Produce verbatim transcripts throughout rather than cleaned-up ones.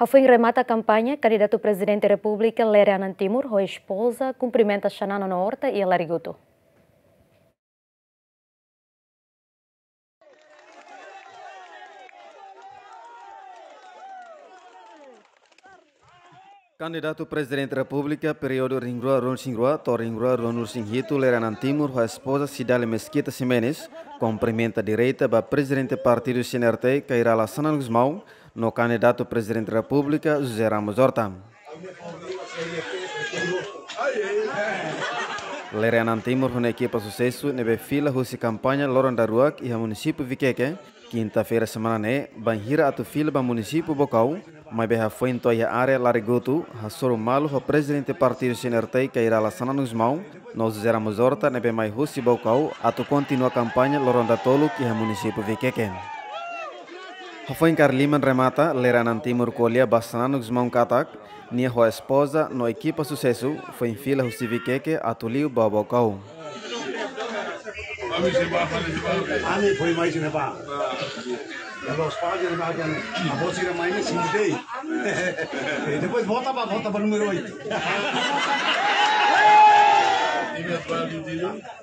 Hafoin remata kampaña, kandidatu Prezidente Repúblika Lere Anan Timur ho espoza kumprimenta Xanana no Horta iha Larigutu. Kandidatu Prezidente Repúblika períodu rihun rua ruanulu resin rua to'o rihun rua ruanulu resin hitu, Lere Anan Timur ho espoza Cidalia Mesquita Ximenes kumprimenta direta ba Prezidente Partidu C N R T, Kay Rala Xanana Gusmão, no kandidatu Prezidente Repúblika, José Ramos Horta. Lere Anan Timur ho nia ekipa susesu ne'ebé fila husi kampaña loron daruak iha munisípiu Viqueque, kinta-feira semana ne'e, bainhira atu fila ba munisípiu Baucau, maibé hafoin to'o iha área Larigutu, hasoru malu ho Prezidente Partidu C N R T, Kay Rala Xanana Gusmão, no José Ramos Horta ne'ebé mai husi Baucau atu kontinua kampaña loron datoluk iha munisípiu Viqueque. Hafoin kaer liman remata, Lere Anan Timur ko'alia ba Xanana Gusmão katak, nia ho espoza no ekipa susesu foin fila husi Viqueque atu liu ba Baucau. Ami foin mai sini ba. Kalau sepagi na bagian, abo sira mai ni sini dei. Depois vota ba, vota ba número oito.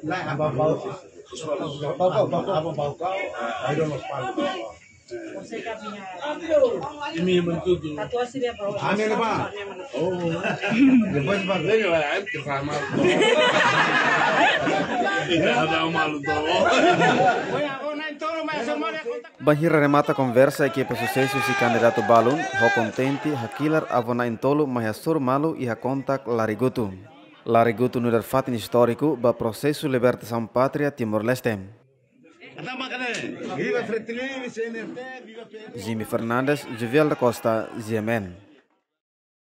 Lah, abo Baucau. Abo Baucau. Abo Baucau. Ayo, Los Palos. Imi mantutu. Ami na ba. Oh. Depois ba. Lele ba, ai, ke sama. Ita ada malu to. Bainhira remata konversa, ekipa susesu husi kandidatu balun ho kontente hakilar avó na'in-tolu mai hasoru malu iha kontak Larigutu. Larigutu nu'udar fatin istóriku ba prosesu libertasaun pátria Timor-Leste. Viva Fretilin, C N R T, viva P N. Jimmy Fernandes, Juvial da Costa, G M N.